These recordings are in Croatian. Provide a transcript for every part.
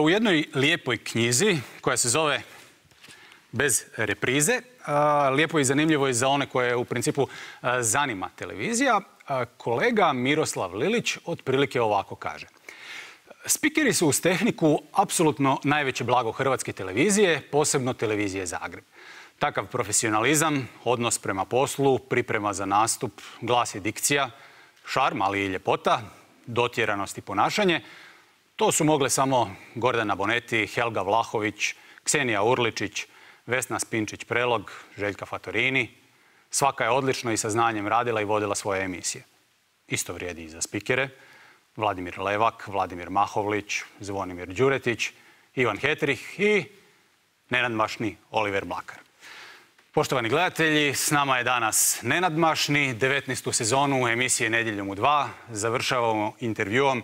U jednoj lijepoj knjizi koja se zove Bez reprize, lijepo i zanimljivo je za one koje u principu zanima televizija, kolega Miroslav Lilić otprilike ovako kaže. Spikeri su uz tehniku apsolutno najveće blago hrvatske televizije, posebno televizije Zagreb. Takav profesionalizam, odnos prema poslu, priprema za nastup, glas i dikcija, šarm, ali i ljepota, dotjeranost i ponašanje, to su mogle samo Gordana Bonetti, Helga Vlahović, Ksenija Urličić, Vesna Spinčić-Prelog, Željka Fatorini. Svaka je odlično i sa znanjem radila i vodila svoje emisije. Isto vrijedi i za spikere. Vladimir Levak, Vladimir Mahovlić, Zvonimir Đuretić, Ivan Hetrih i nenadmašni Oliver Mlakar. Poštovani gledatelji, s nama je danas nenadmašni, 19. sezonu emisije Nedjeljom u 2. Završavamo intervjuom,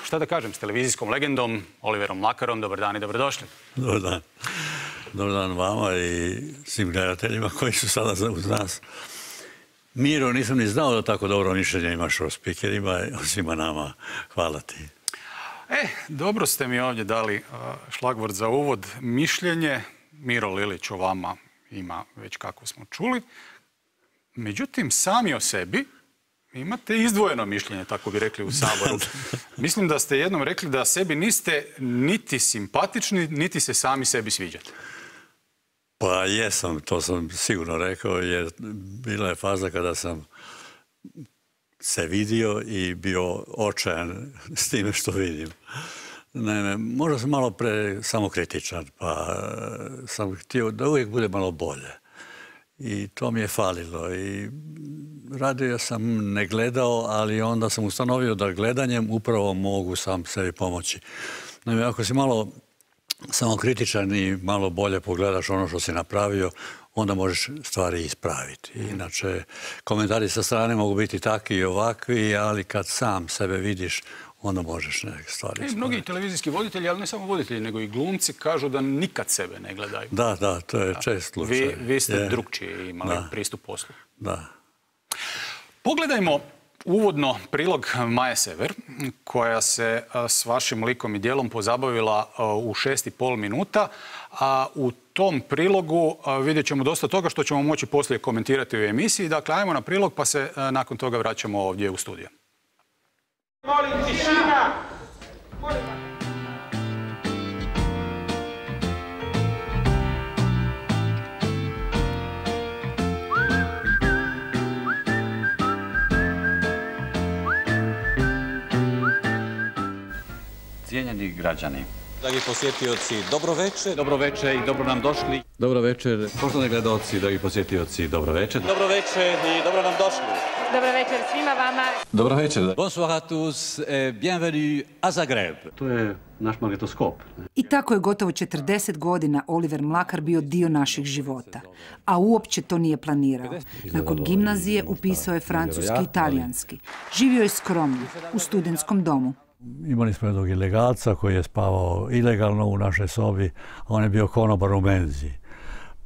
šta da kažem, s televizijskom legendom Oliverom Mlakarom. Dobar dan i dobrodošli. Dobar dan. Dobar dan vama i svim gledateljima koji su sada uz nas. Miro, nisam ni znao da tako dobro mišljenje imaš o spikerima i o svima nama. Hvala ti. Dobro ste mi ovdje dali šlagvort za uvod. Mišljenje Miro Lilić o vama ima već kako smo čuli. Međutim, sami o sebi imate izdvojeno mišljenje, tako bi rekli u Saboru. Mislim da ste jednom rekli da sebi niste niti simpatični, niti se sami sebi sviđate. Pa jesam, to sam sigurno rekao, jer bila je faza kada sam se vidio i bio očajan s time što vidim. Naime, možda sam malo samokritičan, pa sam htio da uvijek bude malo bolje. I to mi je falilo. I radio sam ne gledao, ali onda sam ustanovio da gledanjem upravo mogu sam sebi pomoći. Naime, ako si malo samokritičan i malo bolje pogledaš ono što si napravio, onda možeš stvari ispraviti. Inače, komentari sa strane mogu biti takvi i ovakvi, ali kad sam sebe vidiš, onda možeš neke stvari ispraviti. Mnogi televizijski voditelji, ali ne samo voditelji, nego i glumci kažu da nikad sebe ne gledaju. Da, to je čest slučaj. Vi ste drukčiji imali pristup poslu. Da. Pogledajmo uvodno prilog Maje Sever, koja se s vašim likom i djelom pozabavila u 6,5 minuta. A u tom prilogu vidjet ćemo dosta toga što ćemo moći poslije komentirati u emisiji. Dakle, ajmo na prilog pa se nakon toga vraćamo ovdje u studio. Molim, tišina! Cijenjeni građani, dragi posjetioci, dobro večer. dobro večer i dobro nam došli. Dobro večer, poštovani gledaoci, dragi posjetioci, dobro večer. Dobro večer i dobro nam došli. Dobro večer svima vama. Dobro večer. Bonsoir à tous et bienvenue à Zagreb. To je naš magnetoskop. I tako je gotovo 40 godina Oliver Mlakar bio dio naših života. A uopće to nije planirao. Nakon gimnazije upisao je francuski i talijanski. Živio je skromno, u studentskom domu. Imali smo jednog ilegalca koji je spavao ilegalno u našoj sobi, a on je bio konobar u menzi.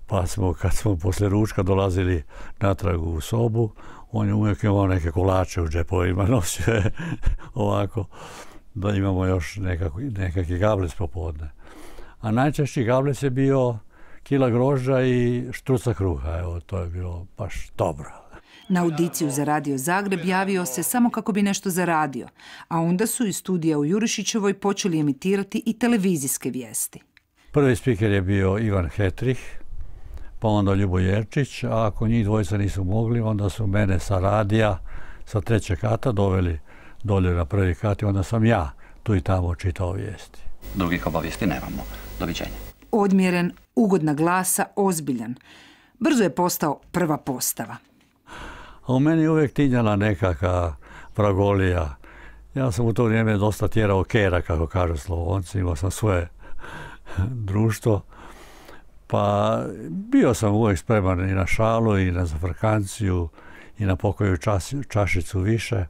Pa smo, kad smo poslije ručka dolazili natrag u sobu, on je uvijek imao neke kolače u džepovima, nosio je ovako, da imamo još nekakvi gablec popodne. A najčešći gablec je bio kila grožđa i štruca kruha, evo, to je bilo baš dobro. Na audiciju za Radio Zagreb javio se samo kako bi nešto zaradio, a onda su iz studija u Jurišićevoj počeli emitirati i televizijske vijesti. Prvi spiker je bio Ivan Hetrih, pa onda Ljubo Jerčić, a ako njih dvojica nisu mogli, onda su mene sa radija, sa 3. kata doveli dolje na 1. kat i onda sam ja tu i tamo čitao vijesti. Drugih obavijesti nemamo. Doviđenja. Odmjeren, ugodna glasa, ozbiljan. Brzo je postao prva postava. A u meni uvijek tinjala nekakva vragolija. Ja sam u to vrijeme dosta tjerao kera, kako kažu Slavonci, imao sam svoje društvo. Pa bio sam uvijek spreman i na šalu, i na zafrkanciju, i na pokoju čašicu više.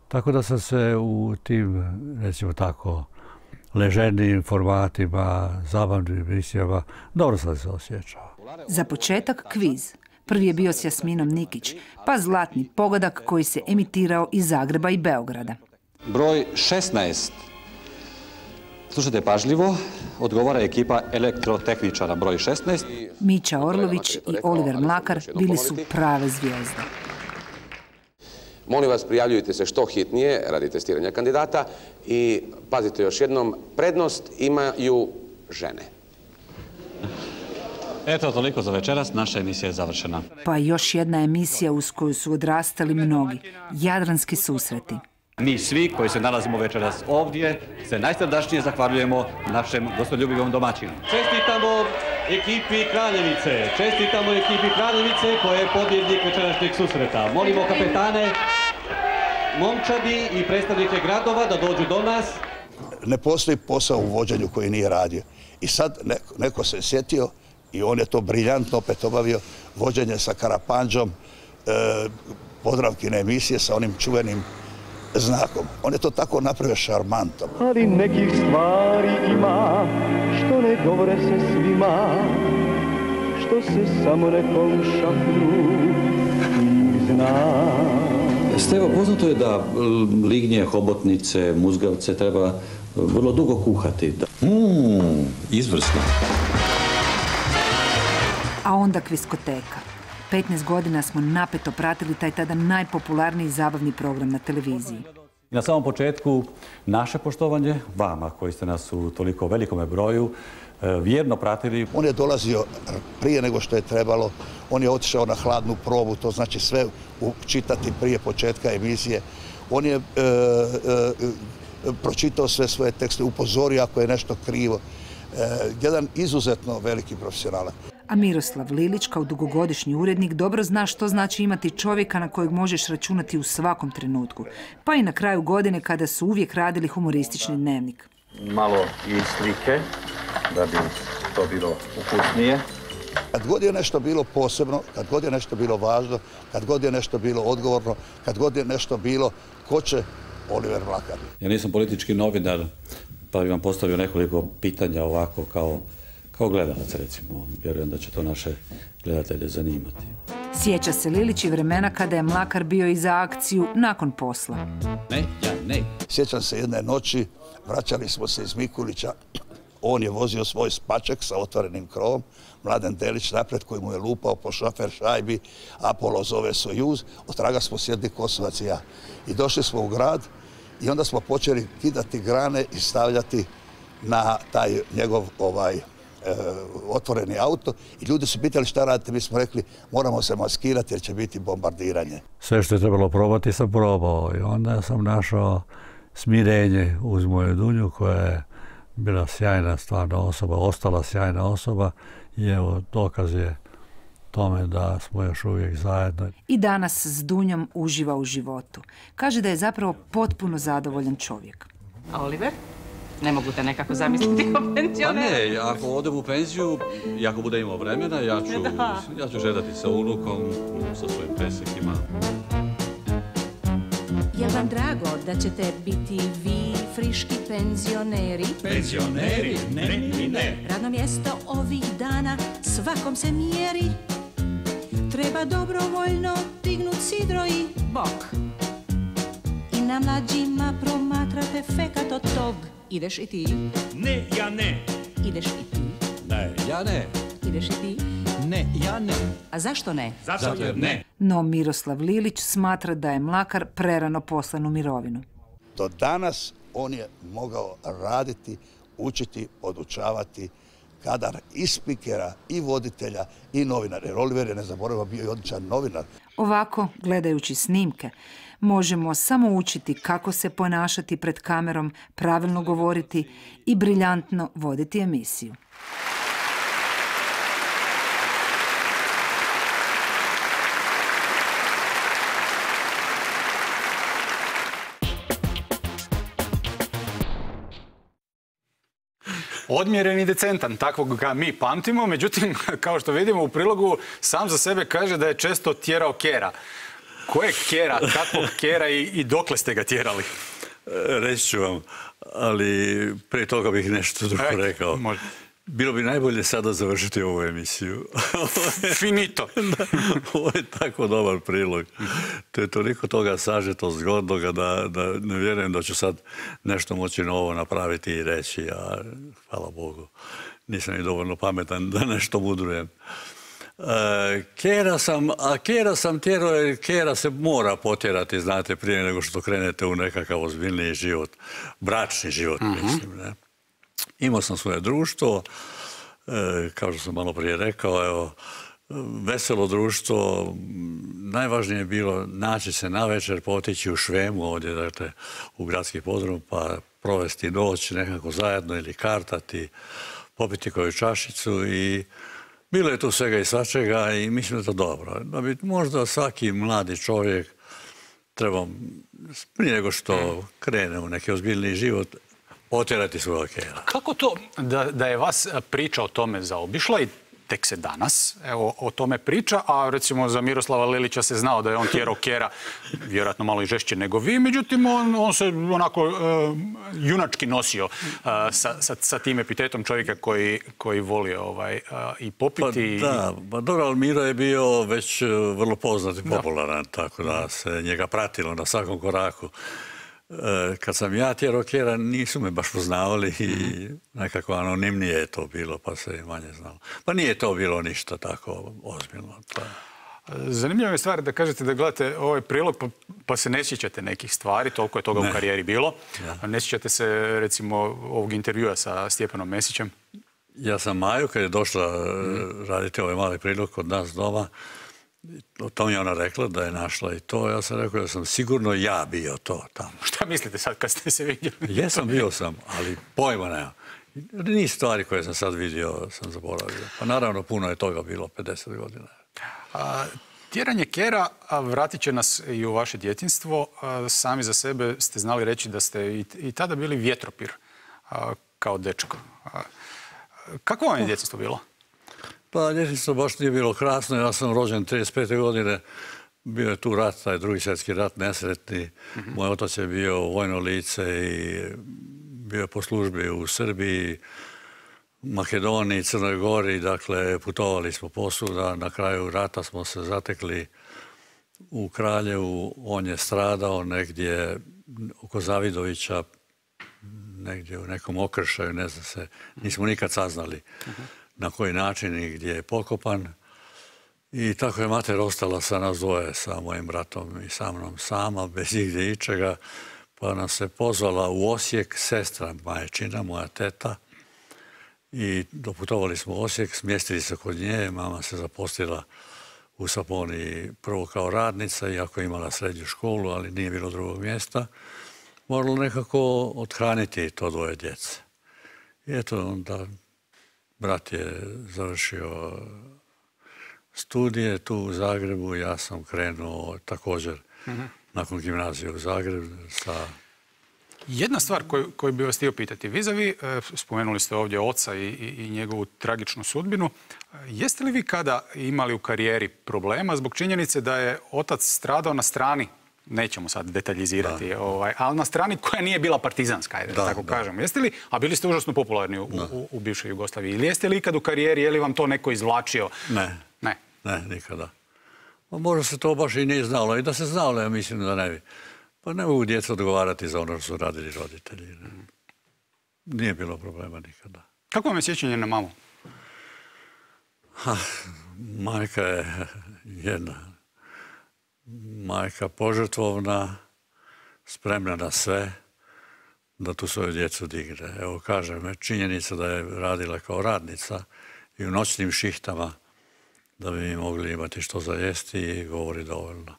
Tako da sam se u tim, recimo tako, leženijim formatima, zabavnim emisijama, dobro sam se osjećao. Za početak kviz. Prvi je bio s Jasminom Nikić, pa zlatni pogodak koji se emitirao iz Zagreba i Beograda. Broj 16. Slušajte pažljivo, odgovara ekipa elektrotehničara broj 16. Mića Orlović i Oliver Mlakar bili su prave zvijezde. Molim vas, prijavljujte se što hitnije radi testiranja kandidata i pazite još jednom, prednost imaju žene. Eto, toliko za večeras, naša emisija je završena. Pa još jedna emisija uz koju su odrastali mnogi. Jadranski susreti. Mi svi koji se nalazimo večeras ovdje se najsrdačnije zahvaljujemo našem gostoljubivom domaćinu. Čestitamo ekipi Kraljevice, čestitamo ekipi Kraljevice koja je pobjednik večerašnjeg susreta. Molimo kapetane, momčadi i predstavnike gradova da dođu do nas. Ne postoji posao u vođenju koji nije radio. I sad neko se sjetio i on je to briljantno opet obavio, vođenje sa Karapanđom, Podravkine emisije sa onim čuvenim znakom. On je to tako napravio šarmantom. Ali nekih stvari ima, što ne govore se svima, što se samo nekom šapnu i zna. Stevo, poznato je da lignje, hobotnice, muzgavce treba vrlo dugo kuhati. Izvrsno. A onda kviskoteka. 15 godina smo napeto pratili taj tada najpopularniji zabavni program na televiziji. Na samom početku naše poštovanje vama koji ste nas u toliko velikome broju vjerno pratili. On je dolazio prije nego što je trebalo, on je otišao na hladnu probu, to znači sve čitati prije početka emisije. On je pročitao sve svoje tekste, upozorio ako je nešto krivo. Jedan izuzetno veliki profesionalac. A Miroslav Lilić, kao dugogodišnji urednik, dobro zna što znači imati čovjeka na kojeg možeš računati u svakom trenutku. Pa i na kraju godine kada su uvijek radili humoristični dnevnik. Malo i slike, da bi to bilo ukusnije. Kad god je nešto bilo posebno, kad god je nešto bilo važno, kad god je nešto bilo odgovorno, kad god je nešto bilo, ko će? Oliver Mlakar. Ja nisam politički novinar, pa bih vam postavio nekoliko pitanja ovako kao gledalac, recimo. Vjerujem da će to naše gledatelje zanimati. Sjeća se Lilić i vremena kada je Mlakar bio i za akciju nakon posla. Ne. Sjećam se jedne noći, vraćali smo se iz Mikulića, on je vozio svoj spaček sa otvorenim krovom, Mladen Delić napred koji mu je lupao po šofer šajbi, Apollo zove Sojuz, otraga smo sjedli Kosovac i ja. I došli smo u grad i onda smo počeli kidati grane i stavljati na taj njegov otvoreni auto i ljudi su pitali šta radite, mi smo rekli moramo se maskirati jer će biti bombardiranje. Sve što je trebalo probati sam probao i onda sam našao smirenje uz moju Dunju koja je bila sjajna stvarna osoba, ostala sjajna osoba i evo dokaz je tome da smo još uvijek zajedno. I danas s Dunjom uživa u životu. Kaže da je zapravo potpuno zadovoljan čovjek. A Oliver? Ne mogu te nekako zamisliti kao penzionera. Pa ne, ako odem u penziju i ako bude imao vremena, ja ću žedati sa unukom, sa svojim presekima. Je vam drago da ćete biti vi friški penzioneri? Penzioneri? Ne. Radno mjesto ovih dana svakom se mjeri. Treba dobrovoljno dignut sidro i bok. I na mlađima promatrate fekat od tog. Ideš i ti? Ne, ja ne. Ideš i ti? Ne, ja ne. Ideš i ti? Ne, ja ne. A zašto ne? Zato jer ne. No Miroslav Lilić smatra da je Mlakar prerano poslan u mirovinu. Do danas on je mogao raditi, učiti, podučavati kadar i spikera, i voditelja, i novinara. Jer Oliver je, ne zaboravimo, bio i odličan novinar. Ovako, gledajući snimke, možemo samo učiti kako se ponašati pred kamerom, pravilno govoriti i briljantno voditi emisiju. Odmjeren i decentan, takvog ga mi pamtimo, međutim, kao što vidimo u prilogu, sam za sebe kaže da je često tjerao kera. Koje kera, kakvog kera i dokle ste ga tjerali? Reći ću vam, ali prije toga bih nešto drugo rekao. Može. Bilo bi najbolje sada završiti ovu emisiju. Finito. Ovo je tako dobar prilog. To je toliko toga sažeto zgodnoga da ne vjerujem da ću sad nešto moći novo napraviti i reći, a hvala Bogu, nisam i dovoljno pametan da nešto mudrujem. Kera sam tjerao jer kera se mora potjerati, znate, prije nego što krenete u nekakav ozbiljniji život, bračni život, mislim, ne. Imao sam svoje društvo, kao što sam malo prije rekao, evo, veselo društvo, najvažnije je bilo naći se navečer, potići u Švemu ovdje, dakle, u gradski podrum, pa provesti noć nekako zajedno ili kartati, popiti koju čašicu i bilo je tu svega i svačega i mislim da je to dobro. Da bi možda svaki mladi čovjek treba, prije nego što krene u neki ozbiljniji život, otjerati svoja kera. Kako to da je vas priča o tome zaobišla i tek se danas o tome priča, a recimo za Miroslava Lilića se znao da je on tjerao kera, vjerojatno malo i žešće nego vi, međutim on se onako junački nosio sa tim epitetom čovjeka koji voli i popiti. Da, dobro, ali Miro je bio već vrlo poznat i popularan, tako da se njega pratilo na svakom koraku. Kad sam ja tjerao kera, nisu me baš poznavali i nekako anonimnije je to bilo, pa se i manje znalo. Pa nije to bilo ništa tako ozbiljno. Zanimljiva je stvar da kažete da gledate ovaj prilog pa se ne sjećate nekih stvari, toliko je toga u karijeri bilo. Ne sjećate se recimo ovog intervjua sa Stjepanom Mesićem? Ja sam Maju, kad je došla raditi ovaj mali prilog kod nas doma, o tom je ona rekla da je našla i to. Ja sam rekao da sam sigurno ja bio to tamo. Šta mislite sad kad ste se vidjeli? Jesam, bio sam, ali pojma nema. Niz stvari koje sam sad vidio sam zaboravio. Pa naravno puno je toga bilo, 50 godina. Tjeranje kera vratit će nas i u vaše djetinjstvo. Sami za sebe ste znali reći da ste i tada bili vjetropir kao dečko. Kako vam je djetinjstvo bilo? Pa djetinjstvo baš nije bilo krasno. Ja sam rođen 35. godine. Bio je tu rat, taj drugi svjetski rat, nesretni. Moj otac je bio vojno lice i bio je po službi u Srbiji, Makedoniji, Crnoj Gori. Dakle, putovali smo posuda. Na kraju rata smo se zatekli u Kraljevu. On je stradao negdje oko Zavidovića, negdje u nekom okršaju, ne znam se. Nismo nikad saznali na koji način i gdje je pokopan. I tako je mater ostala sa nas dvoje, sa mojim bratom i sa mnom sama, bez igdje ičega. Pa nas se pozvala u Osijek sestra majčina, moja teta. I doputovali smo u Osijek, smjestili se kod nje. Mama se zaposlila u Saponiji prvo kao radnica, iako je imala srednju školu, ali nije bilo drugog mjesta. Moralo nekako othraniti to dvoje djece. I eto, onda brat je završio studije tu u Zagrebu. Ja sam krenuo također nakon gimnazije u Zagreb sa... Jedna stvar koju bi vas htio pitati. Vizavi, spomenuli ste ovdje oca i njegovu tragičnu sudbinu. Jeste li vi kada imali u karijeri problema zbog činjenice da je otac stradao na strani, nećemo sad detaljizirati, ali na strani koja nije bila partizanska, da tako kažem. Jeste li, a bili ste užasno popularni u bivšoj Jugoslaviji, ili jeste li ikad u karijeri, je li vam to neko izvlačio? Ne, nikada. Možda se to baš i nije znalo. I da se znalo, ja mislim da ne bi. Pa ne mogu djeca odgovarati za ono što su radili roditelji. Nije bilo problema nikada. Kako vam je sjećanje na mamu? Majka je jedna. Majka požrtvovna, spremna na sve, da tu svoju djecu digne. Evo, kažem, činjenica da je radila kao radnica i u noćnim šihtama da bi mi mogli imati što za jesti i govori dovoljno.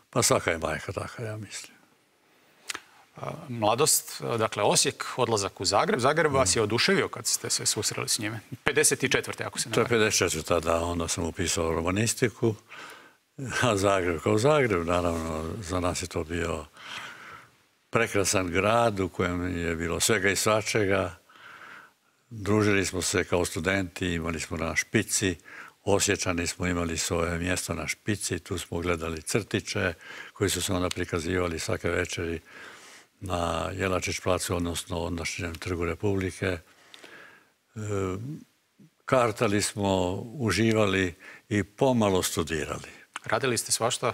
Pa svaka je majka taka, ja mislim. Mladost, dakle Osijek, odlazak u Zagreb. Zagreb vas je oduševio kad ste se susreli s njime. 54. ako se ne varam. To je 54. da, onda sam upisao romanistiku. A Zagreb kao Zagreb, naravno, za nas je to bio prekrasan grad u kojem je bilo svega i svačega. Družili smo se kao studenti, imali smo na špici. Osječani smo imali svoje mjesto na špici, tu smo gledali crtiće koji su se onda prikazivali svake večeri na Jelačić placu, odnosno ondašnjem Trgu Republike. kartali smo, uživali i pomalo studirali. Radili ste svašta?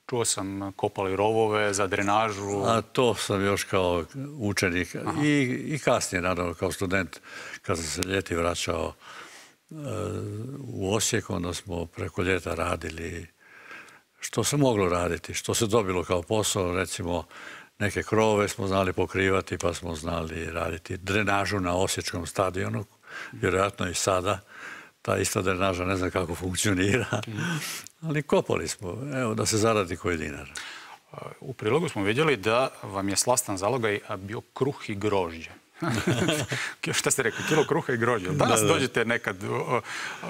Čuo sam, kopali rovove za drenažu. A to sam još kao učenik i kasnije, naravno, kao student, kad sam se ljeti vraćao u Osijek, onda smo preko ljeta radili što se moglo raditi, što se dobilo kao posao, recimo neke krovove smo znali pokrivati, pa smo znali raditi drenažu na Osječkom stadionu, vjerojatno i sada. Ta ista drenaža ne znam kako funkcionira, ali kopali smo, evo, da se zaradi koji dinar. U prilogu smo vidjeli da vam je slastan zalogaj bio kruh i grožđe. Šta ste rekli? Kilo kruha i grožđe. Danas dođete nekad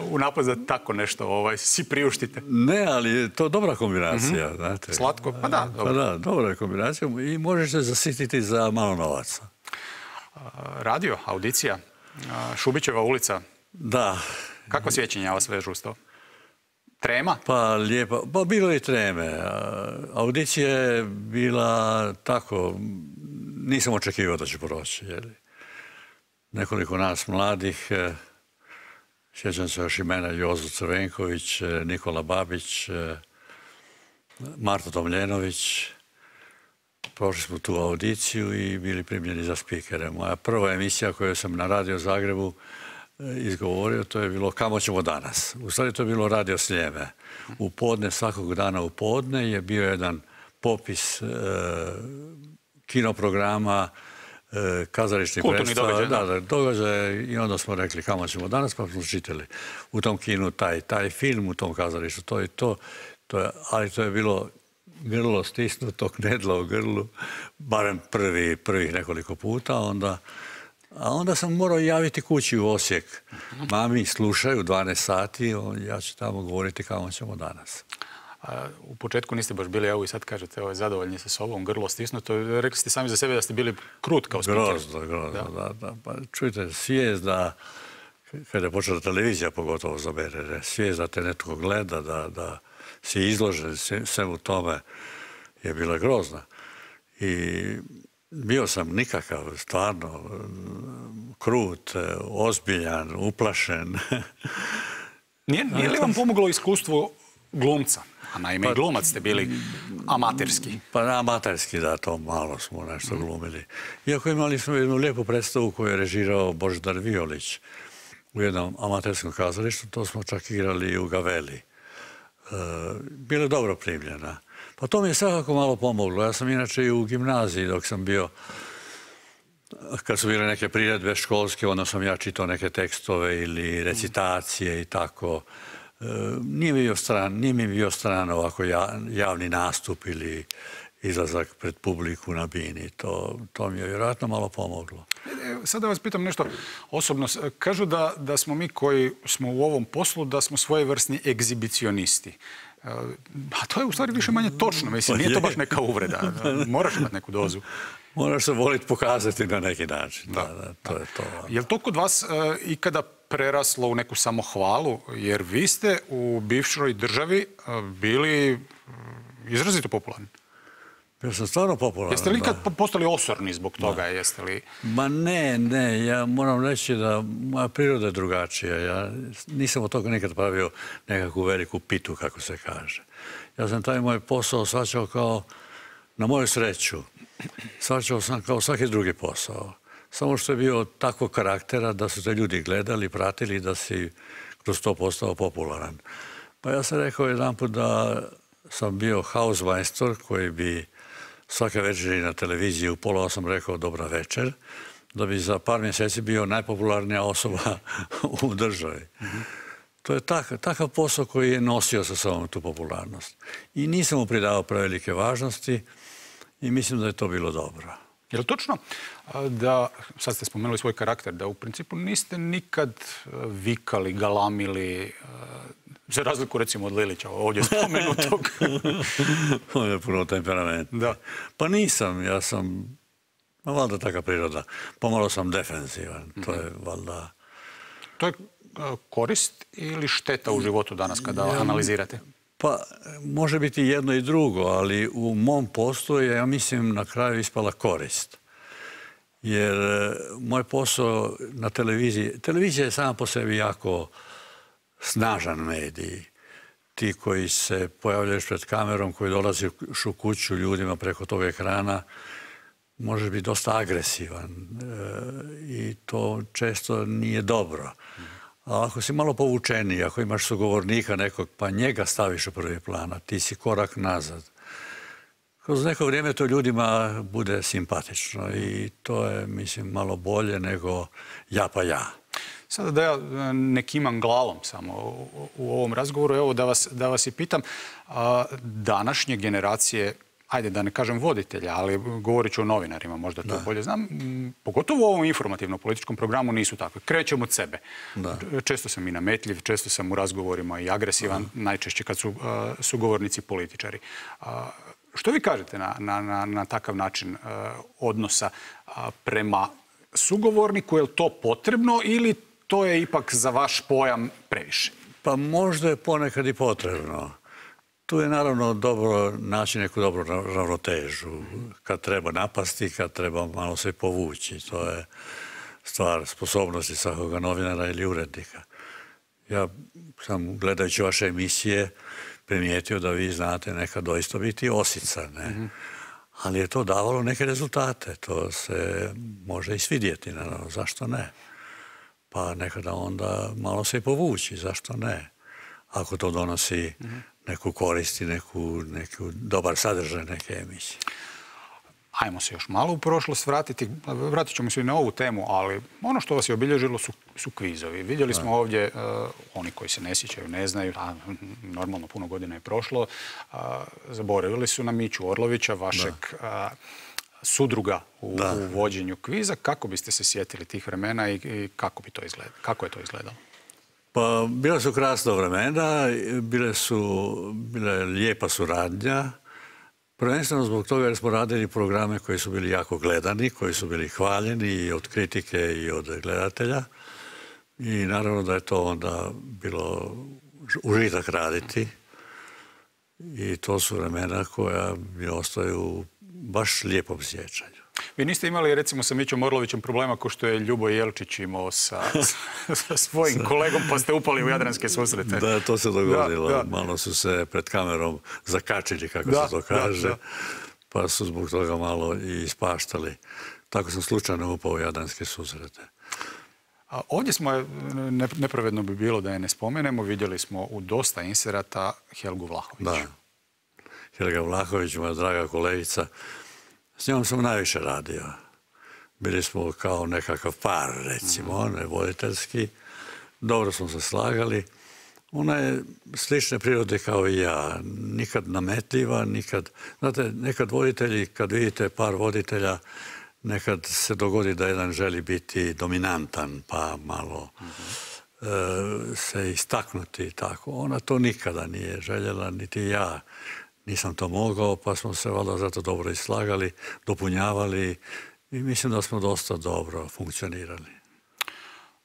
u napad da tako nešto si priuštite. Ne, ali to je dobra kombinacija. Znate. Slatko? Pa da, dobro. Pa da, dobra je kombinacija i možeš se zasititi za malo novaca. Radio, audicija, Šubićeva ulica. Da. Kako sjećanja vas vežu uz to? Trema? Pa lijepo. Pa bilo je treme. Audicija je bila tako, nisam očekivao da će proći. Nekoliko nas mladih, sjećam se još imena Jozo Crvenković, Nikola Babić, Marta Tomljenović. Prošli smo tu audiciju i bili primljeni za spikere. Moja prva emisija koju sam na Radio Zagrebu izgovorio, to je bilo Kamo ćemo danas. U stvari to je bilo Radio Sljeme. U podne, svakog dana u podne je bio jedan popis kinoprograma, kazališnih predstava, događaja i onda smo rekli Kamo ćemo danas, pa smo čitali u tom kinu taj film, u tom kazalištu, to i to. Ali to je bilo grlo stisnuto, knedla u grlu, barem prvih nekoliko puta, a onda sam morao javiti kući u Osijek. Mami slušaju 12 sati, ja ću tamo govoriti Kamo ćemo danas. U početku niste baš bili, evo i sad kažete, zadovoljni sa sobom, grlo stisnuto. Rekli ste sami za sebe da ste bili krut kao spiker. Grozno, da. Pa čujte, svijest da, kada je počela televizija pogotovo za mene, svijest da te netko gleda, da si izložen svemu tome je bila grozna. I bio sam nikakav, stvarno, krut, ozbiljan, uplašen. Nije li vam pomoglo iskustvo glumca? A naime i glumac ste bili amaterski. Pa amaterski, da, to malo smo nešto glumili. Iako imali smo jednu lijepu predstavu koju je režirao Božidar Violić u jednom amaterskom kazalištu, to smo čak igrali i u Gaveli. Bila je dobro primljena. Pa to mi je svakako malo pomoglo. Ja sam inače i u gimnaziji dok sam bio, kad su bile neke priredbe školske, onda sam ja čitao neke tekstove ili recitacije i tako. Nije mi bio stran ovako javni nastup ili izlazak pred publiku na bini. To mi je vjerojatno malo pomoglo. Sada vas pitam nešto osobno. Kažu da smo mi koji smo u ovom poslu, da smo svojevrsni egzibicionisti. A to je u stvari više manje točno. Mislim, nije to baš neka uvreda. Moraš imati neku dozu. Moraš se voliti pokazati na neki način. To je to. Je li to kod vas ikada preraslo u neku samohvalu? Jer vi ste u bivšoj državi bili izrazito popularni. Bio sam stvarno popularan. Jeste li ikad postali osorni zbog toga? Jeste li... Ma ne. Ja moram reći da moja priroda je drugačija. Ja nisam od toga nikad pravio nekakvu veliku pitu, kako se kaže. Ja sam taj moj posao shvaćao kao, na moju sreću, shvaćao sam kao svaki drugi posao. Samo što je bio takvog karaktera da su te ljudi gledali, pratili, da si kroz to postao popularan. Pa ja sam rekao jedanput da sam bio hausmajstor koji bi svake večeri na televiziji u 7:30 rekao dobra večer, da bi za par mjeseci bio najpopularnija osoba u državi. To je takav posao koji je nosio sa sobom tu popularnost. I nisam mu pridavao prevelike važnosti i mislim da je to bilo dobro. Je li točno da, sad ste spomenuli svoj karakter, da u principu niste nikad vikali, galamili, za razliku recimo od Lilića, ovdje spomenutog? On je puno temperament. Da. Pa nisam, ja sam, valjda taka priroda. Pomalo sam defensivan, to je valjda... To je korist ili šteta u životu danas kada analizirate? Pa, može biti jedno i drugo, ali u mom poslu je, ja mislim, na kraju ispala korist. Jer moj posao na televiziji, televizija je sama po sebi jako snažan medij. Ti koji se pojavljaju pred kamerom, koji dolazi u kuću ljudima preko tog ekrana, može biti dosta agresivan i to često nije dobro. A ako si malo povučeniji, ako imaš sugovornika nekog, pa njega staviš u prvi plan, a ti si korak nazad. Kroz neko vrijeme to ljudima bude simpatično i to je, mislim, malo bolje nego ja pa ja. Sada da ja ne kimam glavom samo u ovom razgovoru, evo da vas i pitam, današnje generacije, ajde da ne kažem voditelja, ali govorit ću o novinarima, možda to bolje znam, pogotovo u ovom informativno-političkom programu nisu takve. Krećem od sebe. Često sam i nametljiv, često sam u razgovorima i agresivan, najčešće kad su sugovornici političari. Što vi kažete na takav način odnosa prema sugovorniku? Je li to potrebno ili to je ipak za vaš pojam previše? Pa možda je ponekad i potrebno. Tu je naravno dobro naći neku dobru ravnotežu. Kad treba napasti, kad treba malo se povući. To je stvar sposobnosti svakoga novinara ili urednika. Ja sam, gledajući vaše emisije, primijetio da vi znate nekad doista biti osica, ne? Ali je to davalo neke rezultate. To se može i svidjeti, naravno. Zašto ne? Pa nekada onda malo se i povući. Zašto ne? Ako to donosi neku korist i neku dobar sadržaj neke emisije. Ajmo se još malo u prošlost vratiti. Vratit ćemo se i na ovu temu, ali ono što vas je obilježilo su kvizovi. Vidjeli smo ovdje, oni koji se ne sjećaju, ne znaju, a normalno puno godina je prošlo, zaboravili su na Miću Orlovića, vašeg sudruga u vođenju kviza. Kako biste se sjetili tih vremena i kako je to izgledalo? Pa, bila su krasna vremena, bila je lijepa suradnja. Prvenstveno zbog toga jer smo radili programe koji su bili jako gledani, koji su bili hvaljeni i od kritike i od gledatelja. I naravno da je to onda bilo užitak raditi. I to su vremena koja mi ostaju u baš lijepom sjećanju. Vi niste imali, recimo, sa Mićom Orlovićem problema kao što je Ljubo Jelčić imao sa svojim kolegom, pa ste upali u Jadranske susrete. Da, to se dogodilo. Malo su se pred kamerom zakačili, kako se to kaže, pa su zbog toga malo i ispaštali. Tako sam slučajno upao u Jadranske susrete. Ovdje smo, nepravedno bi bilo da je ne spomenemo, vidjeli smo u dosta inserata Helgu Vlahović. Da. Helga Vlahović, moja draga kolegica, s njom sam najviše radio. Bili smo kao nekakav par, recimo, ne voditeljski. Dobro smo se slagali. Ona je slične prirode kao i ja. Nikad nametljiva, nikad... Znate, nekad voditelji, kad vidite par voditelja, nekad se dogodi da jedan želi biti dominantan, pa malo se istaknuti tako. Ona to nikada nije željela, niti ja. Nisam to mogao, pa smo se valjda zato dobro islagali, dopunjavali i mislim da smo dosta dobro funkcionirali.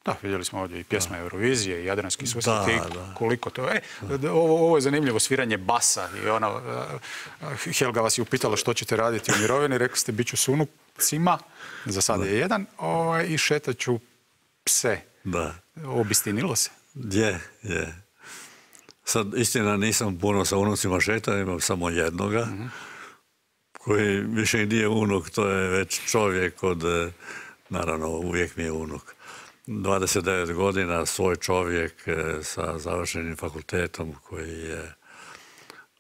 Da, vidjeli smo ovdje i pjesma Eurovizije i Jadranski susret i koliko to je. Ovo je zanimljivo sviranje basa i ona, Helga vas je upitala što ćete raditi u mirovini, rekli ste bit ću s unucima, za sada je jedan, i šetat ću pse. Da. Obistinilo se? Je. Sad, istina, nisam puno sa unucima šetao, imam samo jednoga, koji više nije unuk, to je već čovjek od, naravno, uvijek mi je unuk. 29 godina, svoj čovjek sa završenim fakultetom koji je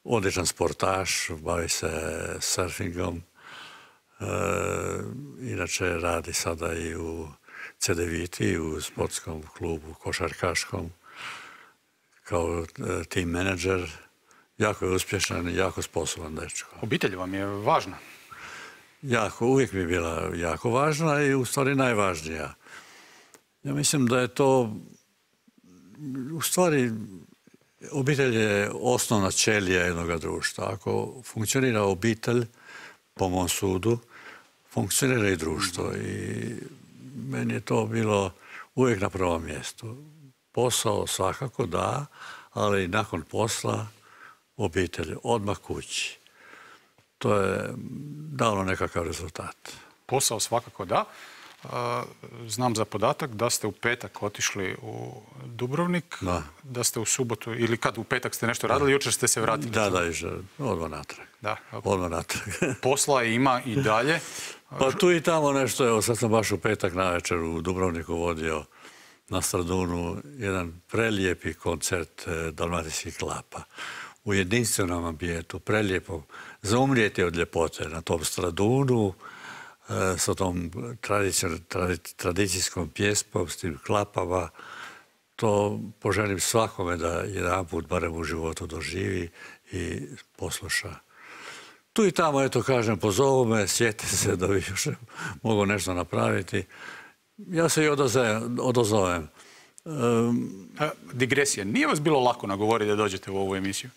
odličan sportaš, bavi se surfingom. Inače radi sada i u CDViti, u sportskom klubu košarkaškom, kao team menadžer. Jako je uspješan i jako sposoban dečko. Obitelj vam je važna? Jako, uvijek mi je bila jako važna i u stvari najvažnija. Ja mislim da je to, u stvari, obitelj je osnovna ćelija jednog društva. Ako funkcionira obitelj, po mom sudu, funkcionira i društvo. I meni je to bilo uvijek na prvom mjestu. Posao svakako da, ali nakon posla obitelj, odmah kući. To je dalo nekakav rezultat. posao svakako da. Znam za podatak da ste u petak otišli u Dubrovnik, da ste u subotu, ili kad u petak ste nešto radili, jučer ste se vratili. Da, odmah natrag. Odmah natrag. Posla ima i dalje. Pa tu i tamo nešto, evo sad sam baš u petak navečer u Dubrovniku vodio na Stradunu jedan prelijepi koncert dalmatinskih klapa. U jedinstvenom ambijentu, prelijepo, za umrijeti od ljepote na tom Stradunu, sa tom tradicijskom pjesmom, s tim klapama. To poželim svakome da jedan put barem u životu doživi i posluša. Tu i tamo, eto kažem, pozovu me, sjeti se da bi još mogu nešto napraviti. Ja se i odozovem. Digresija. Nije vas bilo lako nagovoriti da dođete u ovu emisiju?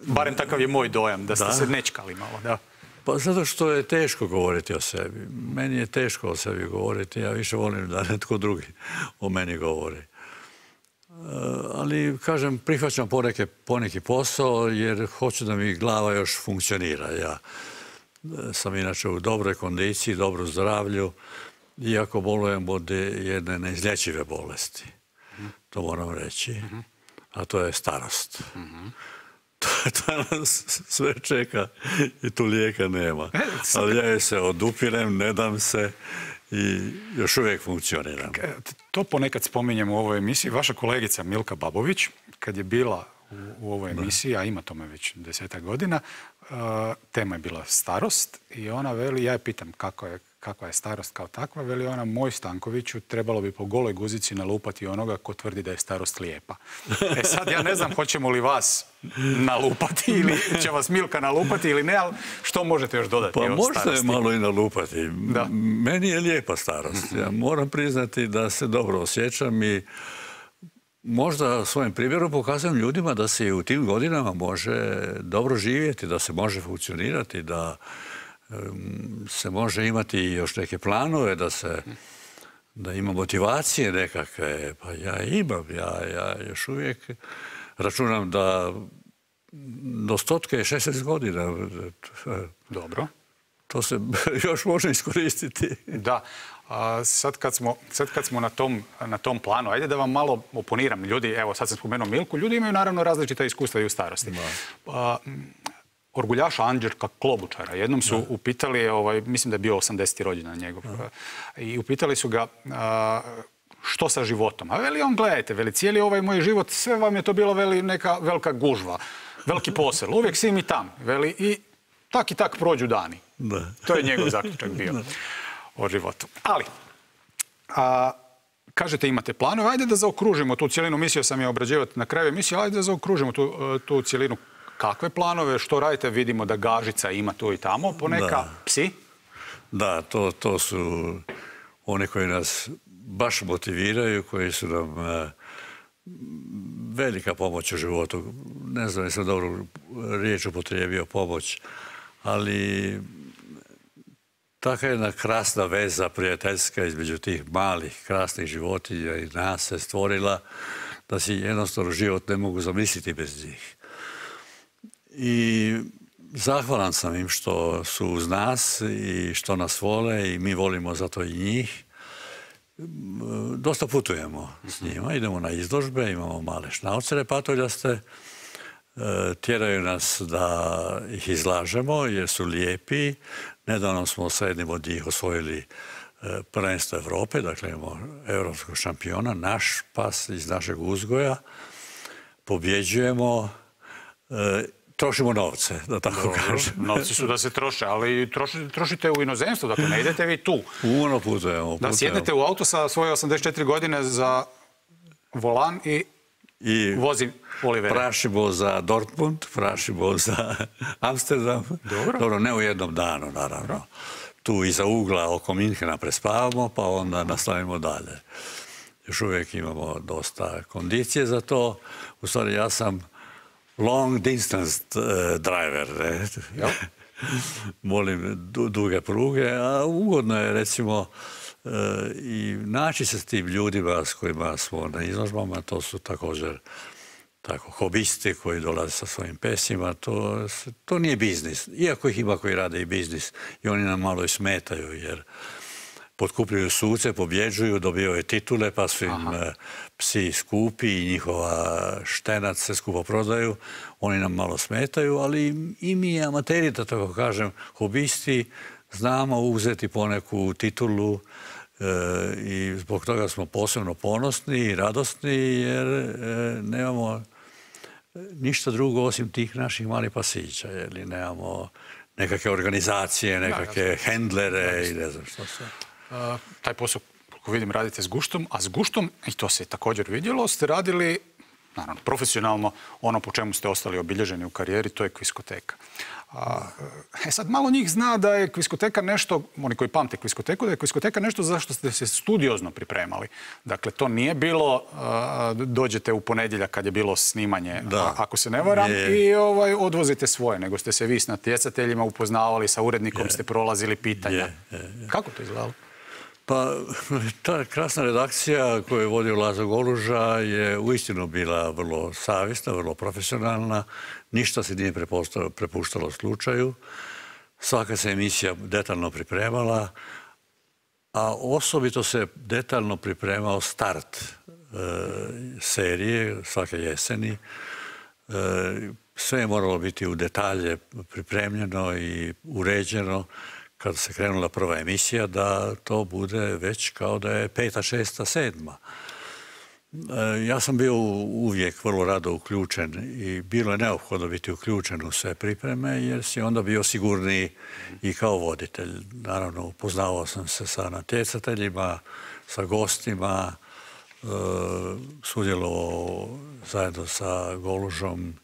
Barem takav je moj dojam, da ste se nečkali malo, da. Pa zato što je teško govoriti o sebi. Meni je teško o sebi govoriti. Ja više volim da netko drugi o meni govori. Ali, kažem, prihvaćam poneki posao jer hoću da mi glava još funkcionira. Ja sam inače u dobroj kondiciji, dobro zdravlju, iako bolujem od jedne neizlječive bolesti. To moram reći. A to je starost. To nas sve čeka i tu lijeka nema. Ali ja je se odupirem, ne dam se i još uvijek funkcioniram. To ponekad spominjem u ovoj emisiji. Vaša kolegica Milka Babović, kad je bila u ovoj emisiji, a ima tome već 10 godina, tema je bila starost i ona veli, ja je pitam kakva je starost kao takva, veli ona, moj Stankoviću, trebalo bi po goloj guzici nalupati onoga ko tvrdi da je starost lijepa. E sad ja ne znam hoćemo li vas nalupati ili će vas Milka nalupati ili ne, ali što možete još dodati o starosti? Pa možete malo i nalupati. Meni je lijepa starost. Ja moram priznati da se dobro osjećam i možda svojim primjerom pokazujem ljudima da se u tim godinama može dobro živjeti, da se može funkcionirati, da se može imati još neke planove, da ima motivacije nekakve. Pa ja imam, ja još uvijek računam da do 160 godina. Dobro. To se još može iskoristiti. Da. Sad kad smo na tom planu, ajde da vam malo oponiram. Ljudi, evo sad sam spomenuo Milku, ljudi imaju naravno različita iskustva i u starosti. Orguljaša Anđelka Klobučara jednom su upitali, mislim da je bio 80. rođendan njegov, i upitali su ga što sa životom. A veli on, gledajte, veli, cijeli ovaj moj život, sve vam je to bilo, veli, neka velika gužva, veliki posel, uvijek si mi tam, veli, i tak prođu dani. To je njegov zaključak bio o životu. Ali, kažete imate planove, ajde da zaokružimo tu cijelinu, mislio sam je obrađivati na kraju emisije, ajde da zaokružimo tu cijelinu. Kakve planove, što radite? Vidimo da Gažica ima tu i tamo, poneka psi? Da, to su oni koji nas baš motiviraju, koji su nam velika pomoć u životu. Ne znam, nisam dobro riječ upotrijebio pomoć, ali taka jedna krasna veza prijateljska između tih malih, krasnih životinja i nas se stvorila da si jednostavno život ne mogu zamisliti bez njih. I zahvalan sam im što su uz nas i što nas vole i mi volimo zato i njih. Dosta putujemo s njima, idemo na izložbe, imamo male šnaucere patoljaste, tjeraju nas da ih izlažemo jer su lijepi. Nedavno smo sa jednim od njih osvojili prvenstvo Evrope, dakle imamo europskog šampiona, naš pas iz našeg uzgoja, pobjeđujemo, trošimo novce, da tako kažem. Novci su da se troše, ali trošite u inozemstvu, dakle ne idete vi tu. Puno putujemo. Da sjednete u auto sa svoje 84 godine za volan i vozi Olivera. Prašimo za Dortmund, prašimo za Amsterdam. Dobro, ne u jednom danu, naravno. Tu iza ugla oko Minhena prespavamo, pa onda nastavimo dalje. Još uvijek imamo dosta kondicije za to. U stvari, ja sam long distance driver. Volim duge pruge, a ugodno je, recimo, i naći se s tim ljudima s kojima smo na izložbama. To su također tako, hobisti koji dolaze sa svojim pesima, to nije biznis. Iako ih ima koji rade i biznis i oni nam malo i smetaju, jer potkupljuju suce, pobjeđuju, dobivaju titule, pa su im psi skupi i njihova štenac se skupo prodaju. Oni nam malo smetaju, ali i mi amateri, da tako kažem, hobisti, znamo uzeti poneku titulu i zbog toga smo posebno ponosni i radosni, jer nemamo ništa drugo osim tih naših malih pasića, jer nemamo nekakve organizacije, nekakve hendlere i ne znam što sve. Taj posao, koliko vidim, radite s guštom, a s guštom, i to se također vidjelo, ste radili, naravno, profesionalno, ono po čemu ste ostali obilježeni u karijeri, to je kviskoteka. Sad malo njih zna da je kviskoteka nešto, oni koji pamte kviskoteku, da je kviskoteka nešto za što ste se studiozno pripremali. Dakle, to nije bilo, dođete u ponedjeljak kad je bilo snimanje, ako se ne varam, i odvozite svoje, nego ste se vi s natjecateljima upoznavali, sa urednikom ste prolazili pitanja. Kako to izgledalo? Pa, ta krasna redakcija koju je vodio Lazo Goluža je uistinu bila vrlo savjesna, vrlo profesionalna. Ništa se nije prepuštalo slučaju. Svaka se emisija detaljno pripremala, a osobito se detaljno pripremao start serije svake jeseni. Sve je moralo biti u detalje pripremljeno i uređeno. Kada se krenula prva emisija, da to bude već kao da je 5., 6., 7. Ja sam bio uvijek vrlo rado uključen i bilo je neophodno biti uključen u sve pripreme, jer si onda bio sigurniji i kao voditelj. Naravno, upoznavao sam se sa natjecateljima, sa gostima, sudjelovao zajedno sa Golužom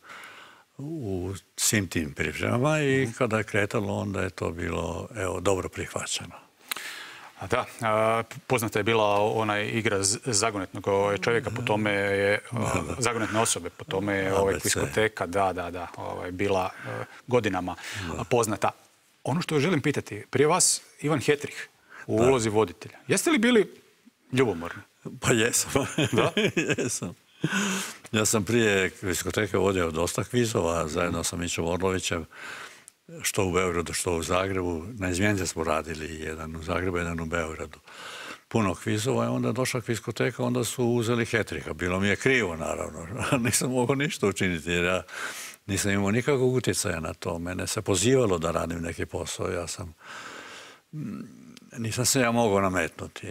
u svim tim pripremama i kada je kretalo, onda je to bilo dobro prihvaćeno. Da, poznata je bila ona igra zagonetnog čovjeka, po tome je zagonetne osobe, po tome je kviskoteka, bila godinama poznata. Ono što želim pitati, prije vas Ivan Hetrih u ulozi voditelja. Jeste li bili ljubomorni? Pa jesam. Da? Jesam. Ja sam prije kviskoteke vodio dosta kvizova, zajedno sa Mićom Orlovićem, što u Beogradu, što u Zagrebu. Na izmjenice smo radili, jedan u Zagrebu, jedan u Beogradu. Puno kvizova, i onda je došla kviskoteka, onda su uzeli Hetriha. Bilo mi je krivo, naravno. Nisam mogao ništa učiniti, jer ja nisam imao nikakvog utjecaja na to. Mene se pozivalo da radim neki posao. Nisam se ja mogao nametnuti.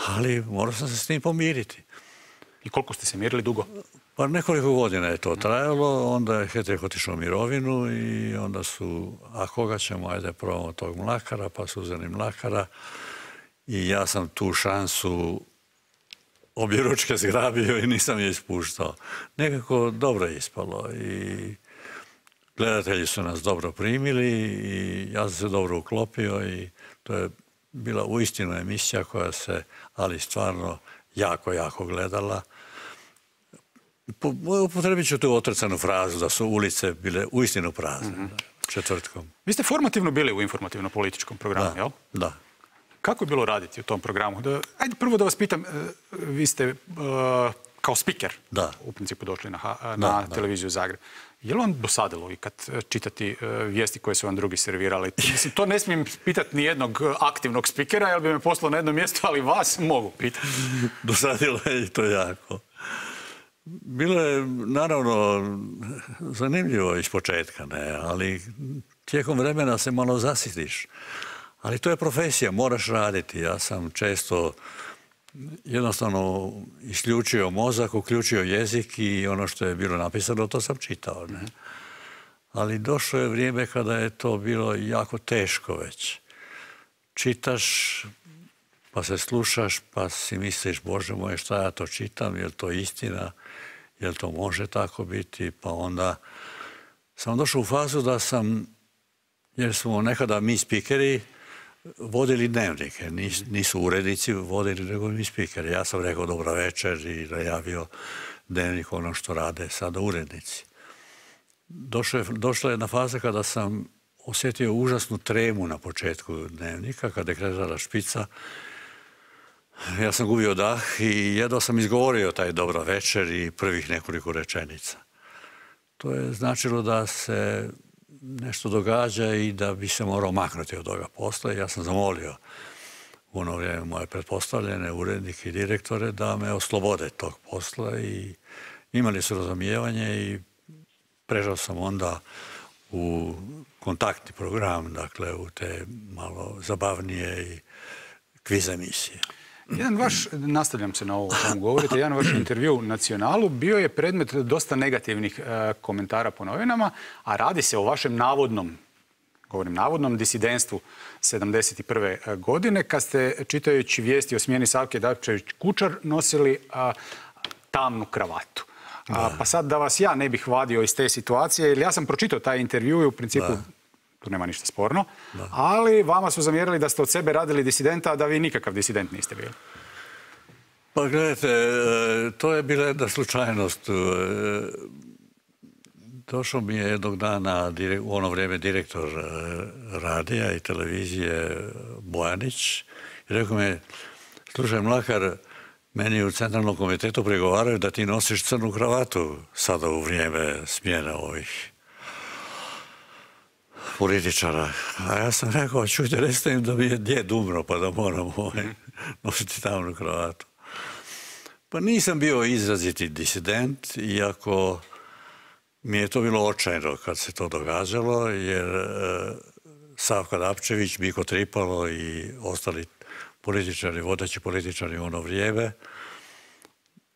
Ali morao sam se s tim pomiriti. I koliko ste se mirili dugo? Pa nekoliko godina je to trajalo, onda je Hetrih otišao u mirovinu i onda su, a koga ćemo, ajde probamo tog Mlakara, pa su uzeli Mlakara i ja sam tu šansu objeručke zgrabio i nisam je ispuštao. Nekako dobro je ispalo i gledatelji su nas dobro primili i ja sam se dobro uklopio i to je bila uistinu emisija koja se, ali stvarno, jako, jako gledala. Upotrebit ću tu otrcanu frazu da su ulice bile uistinu prazne četvrtkom. Vi ste formativno bili u informativno-političkom programu, jel? Da. Kako je bilo raditi u tom programu? Ajde prvo da vas pitam, vi ste kao spiker u principu došli na televiziju Zagreb. Je li vam dosadilo i kad čitati vijesti koje su vam drugi servirali? Mislim, to ne smijem pitati ni jednog aktivnog spikera, jer bi me poslao na jedno mjesto, ali vas mogu pitati. Dosadilo je i to jako. Bilo je, naravno, zanimljivo iz početka, ali tijekom vremena se malo zasitiš. Ali to je profesija, moraš raditi. Ja sam često jednostavno isključio mozak, uključio jezik i ono što je bilo napisano, to sam čitao. Ali došlo je vrijeme kada je to bilo jako teško već. Čitaš, pa se slušaš, pa si misliš, Bože moj, šta ja to čitam, je li to istina, je li to može tako biti, pa onda sam došao u fazu da sam, jer smo nekada mi spikeri vodili dnevnike, nisu urednici vodili, nego mi spikeri. Ja sam rekao dobra večer i najavio dnevnik, ono što rade sada urednici. Došla je jedna faza kada sam osjetio užasnu tremu na početku dnevnika, kada je kretala špica. Ja sam gubio dah i jedva sam izgovorio taj dobra večer i prvih nekoliko rečenica. To je značilo da se nešto događa i da bi se morao maknuti od toga posla. Ja sam zamolio u ono vrijeme moje pretpostavljene urednike i direktore da me oslobode tog posla i imali su razumijevanje i prešao sam onda u kontaktni program, dakle u te malo zabavnije i kviz emisije. Jedan vaš, nastavljam se na ovo o čemu govorite, jedan vaš intervju Nacionalu bio je predmet dosta negativnih komentara po novinama, a radi se o vašem navodnom disidentstvu 71. godine, kad ste, čitajući vijesti o smjeni Savke Dabčević-Kučar, nosili tamnu kravatu. Pa sad da vas ja ne bih vadio iz te situacije, jer ja sam pročitao taj intervju i u principu tu nema ništa sporno, ali vama su zamjerili da ste od sebe radili disidenta, a da vi nikakav disident niste bili. Pa gledajte, to je bila jedna slučajnost. Došao mi je jednog dana u ono vrijeme direktor radija i televizije Bojanić i rekao mi, slušaj Mlakar, meni u Centralnom komitetu pregovaraju da ti nosiš crnu kravatu sada u vrijeme smjene ovih političara. A ja sam rekao, čujte, recite im da mi je djed umro pa da moram nositi tamnu kravatu. Pa nisam bio izraziti disident, iako mi je to bilo očajno kad se to događalo, jer Savka Dabčević, Miko Tripalo i ostali političari, vodeći političari u ono vrijeme,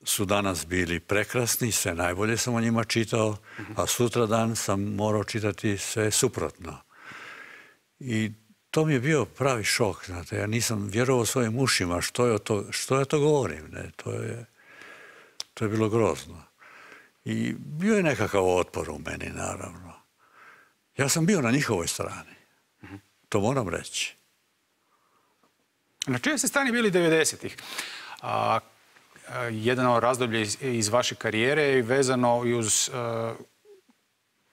su danas bili prekrasni, sve najbolje sam o njima čitao, a sutradan sam morao čitati sve suprotno. I to mi je bio pravi šok, znate, ja nisam vjerovao svojim ušima što ja to govorim, ne, to je bilo grozno. I bio je nekakav otpor u meni, naravno. Ja sam bio na njihovoj strani, to moram reći. Na čijoj ste strani bili 90-ih? Jedno razdoblje iz vaše karijere je vezano i uz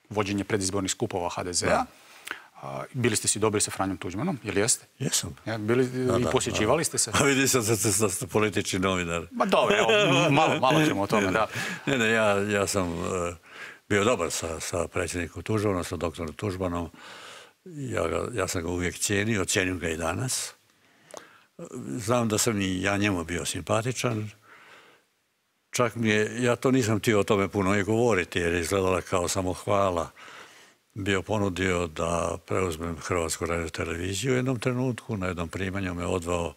vođenje predizbornih skupova HDZ-a. Bili ste si dobri sa Franjom Tuđmanom, je li jeste? Jesam. I posjećivali ste se? A vidi sam da ste politički novinar. Ma dobro, evo, malo ćemo o tome, da. Ne, ja sam bio dobar sa predsjednikom Tuđmanom, sa doktorom Tuđmanom. Ja sam ga uvijek cijenio, cijenim ga i danas. Znam da sam i ja njemu bio simpatičan. Čak mi je, ja to nisam htio o tome puno i govoriti, jer je izgledala kao samohvala. Bio ponudio da preuzmem Hrvatsku radioteleviziju u jednom trenutku. Na jednom primanju me odveo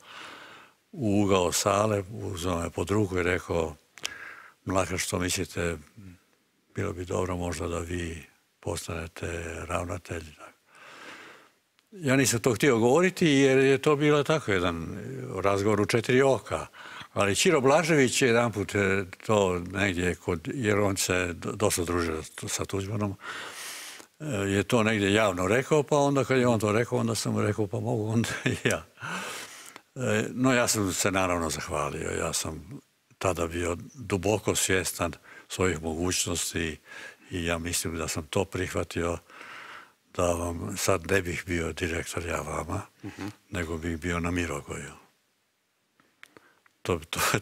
u ugao sale, uzeo me pod ruku i rekao, Mlakar, što mislite, bilo bi dobro možda da vi postanete ravnatelj. Ja nisam to htio govoriti jer je to bilo tako jedan razgovor u 4 oka. Ali Ćiro Blažević je jedanput to negdje, jer on se dosta družio sa Tuđmanom, je to negdje javno rekao, pa onda kad je on to rekao, onda sam mu rekao, pa mogu onda i ja. No ja sam se naravno zahvalio. Ja sam tada bio duboko svjestan svojih mogućnosti i ja mislim da sam to prihvatio, da vam sad ne bih bio direktor ja vama, nego bih bio na Mirogoju.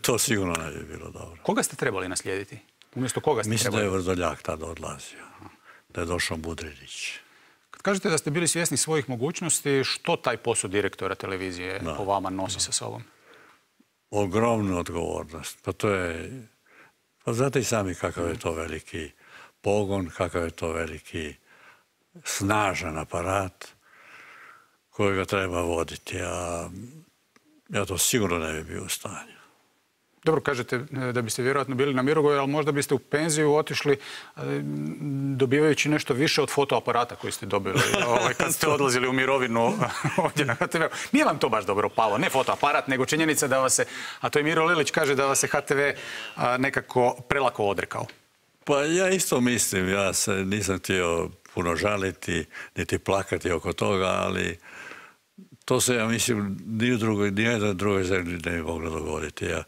To sigurno ne bi bilo dobro. Koga ste trebali naslijediti? Umjesto koga ste Mislim trebali? da je Vrdoljak tada odlazio. Da je došao Budrinić. Kad kažete da ste bili svjesni svojih mogućnosti, što taj posao direktora televizije po vama nosi sa sobom? Ogromnu odgovornost. Pa to je... Pa znate i sami kakav je to veliki pogon, kakav je to veliki snažan aparat kojega treba voditi, a ja to sigurno ne bi bio u stanju. Dobro, kažete da biste vjerojatno bili na Mirogoju, ali možda biste u penziju otišli dobivajući nešto više od fotoaparata koji ste dobili kad ste odlazili u mirovinu ovdje na HTV-u. Nije vam to baš dobro palo, ne fotoaparat, nego činjenica da vas se, a to je Miro Lilić kaže, da vas se HTV nekako prelako odrekao. Pa ja isto mislim, ja se nisam htio puno žaliti, niti plakati oko toga, ali to se, ja mislim, ni u jednoj drugoj zemlji ne bi moglo dogoditi. Ja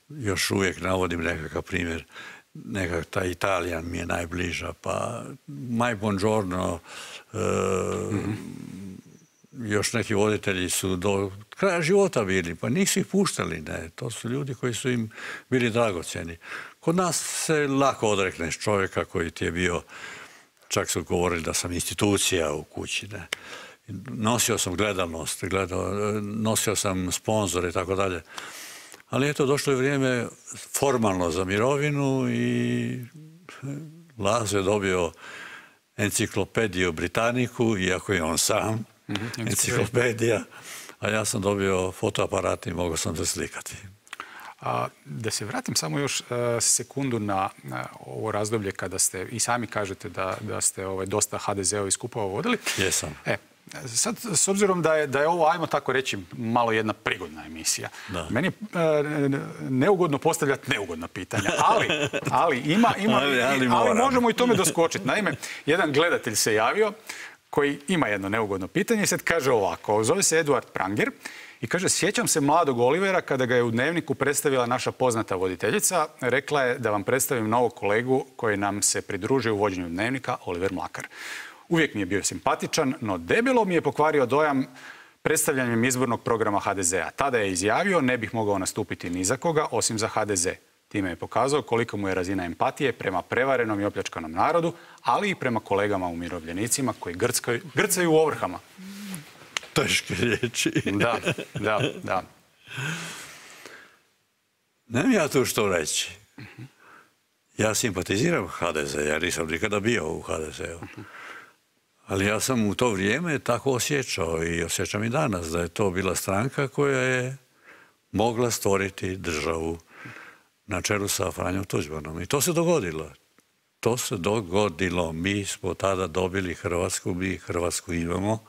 još uvijek navodim nekakav primjer, ta Italija mi je najbliža, pa Mai Buongiorno još neki voditelji su do kraja života bili, pa nisu ih puštali, ne. To su ljudi koji su im bili dragocjeni. Kod nas se lako odrekneš čovjeka koji ti je bio, čak su govorili da sam institucija u kući, ne. Nosio sam gledanost, nosio sam sponzore i tako dalje. Ali eto, došlo je vrijeme formalno za mirovinu i Lazo je dobio enciklopediju Britaniku, iako je on sam enciklopedija, a ja sam dobio fotoaparat i mogao sam se slikati. Da se vratim samo još sekundu na ovo razdoblje kada ste, i sami kažete da ste dosta HDZ-ovi skupova vodili. Jesam. Sad, s obzirom da je ovo, ajmo tako reći, malo jedna prigodna emisija, meni je neugodno postavljati neugodna pitanja, ali možemo i tome doskočiti. Naime, jedan gledatelj se javio koji ima jedno neugodno pitanje i sad kaže ovako, zove se Eduard Pranger i kaže, sjećam se mladog Olivera kada ga je u Dnevniku predstavila naša poznata voditeljica, rekla je da vam predstavim novog kolegu koji nam se pridružio u vođenju Dnevnika, Oliver Mlakar. Uvijek mi je bio simpatičan, no debelo mi je pokvario dojam predstavljanjem izbornog programa HDZ-a. Tada je izjavio, ne bih mogao nastupiti ni za koga, osim za HDZ. Time je pokazao koliko mu je razina empatije prema prevarenom i opljačkanom narodu, ali i prema kolegama umirovljenicima koji grcaju u ovrhama. Teške riječi. Da. Nemam ja tu što reći. Ja simpatiziram HDZ, ja nisam nikada bio u HDZ-u. Ali ja sam u to vrijeme tako osjećao i osjećam i danas da je to bila stranka koja je mogla stvoriti državu na čelu sa Franjom Tuđmanom. I to se dogodilo. To se dogodilo. Mi smo tada dobili Hrvatsku, mi Hrvatsku imamo.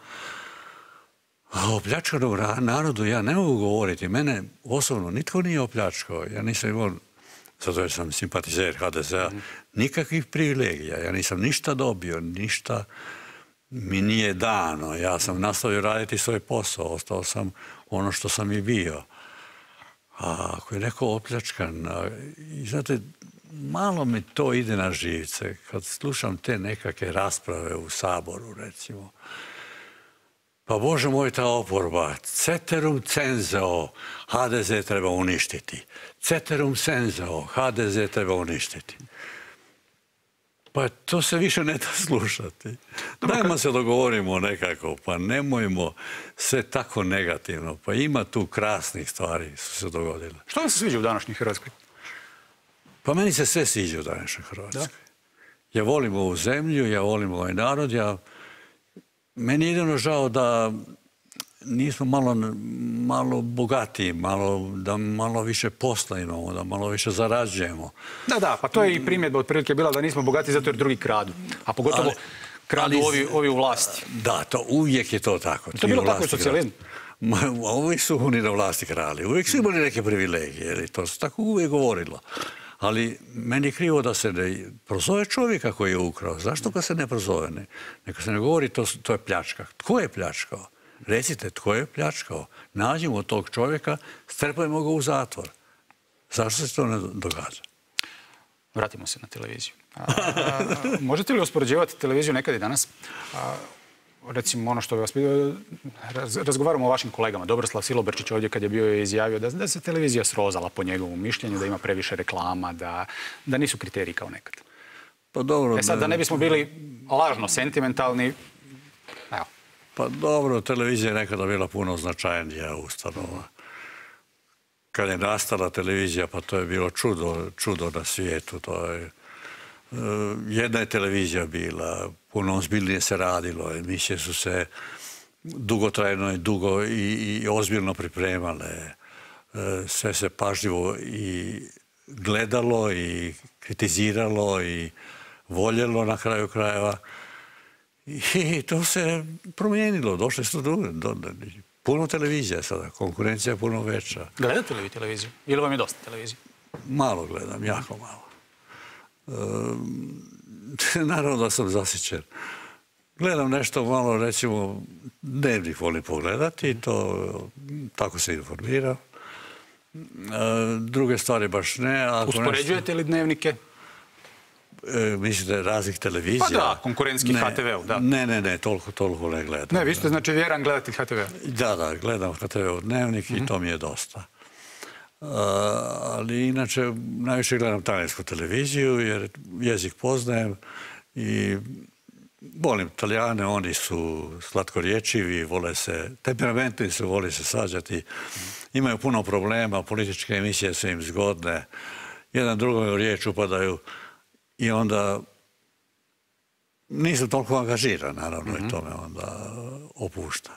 A o pljačkanom narodu ja ne mogu govoriti. Mene osobno nitko nije opljačkao. Ja nisam imao, zato jer sam simpatizer HDZ-a, nikakvih privilegija. Ja nisam ništa dobio, ništa mi nije dano. Ja sam nastavio raditi svoj posao. Ostao sam ono što sam i bio. A ako je neko opljačkan, i znate, malo mi to ide na živce. Kad slušam te nekakve rasprave u Saboru, recimo, pa Bože moj, ta oporba, ceterum censeo, HDZ treba uništiti. Ceterum censeo, HDZ treba uništiti. Pa to se više ne da slušati. Dajmo se dogovorimo nekako, pa nemojmo sve tako negativno. Pa ima tu krasnih stvari su se dogodile. Što vam se sviđa u današnjoj Hrvatskoj? Pa meni se sve sviđa u današnjoj Hrvatskoj. Ja volim ovu zemlju, ja volim ovaj narod, meni je jedino žao da nismo malo bogatiji, da malo više posla imamo, da malo više zarađujemo. Da, pa to je i primjedba otprilike bila da nismo bogati zato jer drugi kradu. A pogotovo kradu ovi u vlasti. Da, uvijek je to tako. To je bilo tako u socijalizmu? Uvijek su oni na vlasti krali, uvijek su imali neke privilegije. To se tako uvijek govorilo. Ali meni je krivo da se ne prozove čovjeka koji je ukrao. Zašto ga se ne prozove? Neka se ne govori to je pljačka. Tko je pljačkao? Recite, tko je pljačkao? Nađimo tog čovjeka, strpajmo ga u zatvor. Zašto se to ne događa? Vratimo se na televiziju. Možete li uspoređivati televiziju nekad i danas? Recimo, ono što bi vas pitao, razgovaramo o vašim kolegama. Dobroslav Silobrčić ovdje kad je bio izjavio da se televizija srozala po njegovom mišljenju, da ima previše reklama, da nisu kriteriji kao nekad. Pa dobro. Sad, da ne bismo bili lažno sentimentalni, evo. Pa dobro, televizija je nekada bila puno značajnija ustanova. Kad je nastala televizija, pa to je bilo čudo na svijetu. Jedna je televizija bila, puno ozbiljnije se radilo, emisije su se dugotrajno i dugo i ozbiljno pripremale. Sve se pažljivo i gledalo i kritiziralo i voljelo na kraju krajeva. I to se promijenilo, došli su puno televizija sada, konkurencija je puno veća. Gledate li vi televiziju? Ili vam je dosta televizije? Malo gledam, jako malo. Naravno da sam zasićen. Gledam nešto malo, recimo, Dnevnik volim pogledati i tako se informira. Druge stvari baš ne. Uspoređujete li dnevnike? Mislite raznih televizija? Pa da, konkurentski HTV-u, da. Ne, toliko ne gledam. Ne, vi ste znači vjeran gledatelj HTV-a. Da, gledam HTV-u dnevnik i to mi je dosta. Ali inače, najviše gledam talijansku televiziju jer jezik poznajem i volim Talijane, oni su slatkorječivi, temperamentni su, vole se svađati, imaju puno problema, političke emisije su im zgodne, jedan drugoj u riječ upadaju i onda nisam toliko angažiran, naravno, i to me onda opušta.